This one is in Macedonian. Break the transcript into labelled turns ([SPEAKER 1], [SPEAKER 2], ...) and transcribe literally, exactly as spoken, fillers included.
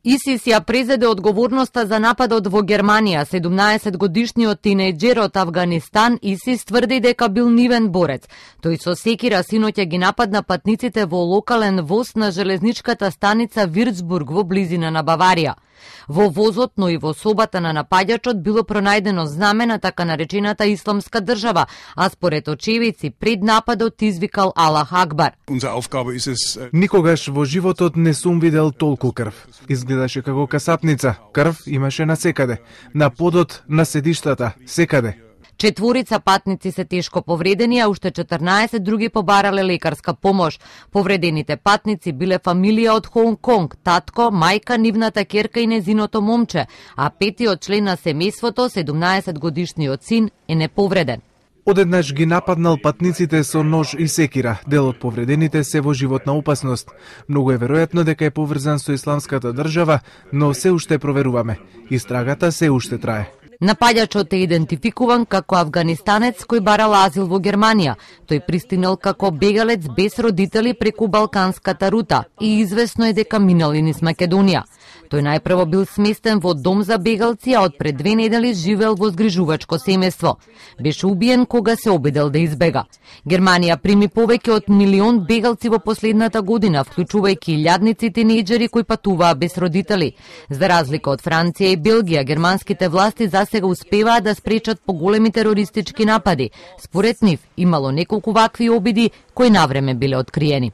[SPEAKER 1] ИСИС ја презеде одговорноста за нападот во Германија. седумнаесетгодишниот тинејџер од Авганистан ИСИС тврди дека бил нивен борец. Тој со секира синоќа ги нападна патниците во локален воз на железничката станица Вирцбург во близина на Баварија. Во возот, но и во собата на напаѓачот било пронајдено знаме на така наречената Исламска држава, а според очевидци пред нападот извикал Аллах Акбар.
[SPEAKER 2] Никогаш во животот не сум видел толку крв. Изгледаше како касапница. Крв имаше насекаде. На подот, на седиштата, секаде.
[SPEAKER 1] Четворица патници се тешко повредени, а уште четрнаесет други побарале лекарска помош. Повредените патници биле фамилија од Хонг Конг, татко, мајка, нивната ќерка и незиното момче, а петиот член на семејството, седумнаесетгодишниот син, е неповреден.
[SPEAKER 2] Одеднаш ги нападнал патниците со нож и секира. Дел од повредените се во животна опасност. Многу е веројатно дека е поврзан со Исламската држава, но се уште проверуваме. Истрагата се уште трае.
[SPEAKER 1] Напаѓачот е идентификуван како афганистанец кој барал азил во Германија. Тој пристигнал како бегалец без родители преку балканската рута и известно е дека минал и низ Македонија. Тој најпрво бил сместен во дом за бегалци, а од пред две недели живеел во згрижувачко семејство. Беше убиен кога се обидел да избега. Германија прими повеќе од милион бегалци во последната година, вклучувајќи илјадници тинејџери кои патуваа без родители. За разлика од Франција и Белгија, германските власти за сега успеваат да спречат поголеми терористички напади. Според нив, имало неколку вакви обиди кои навреме биле откриени.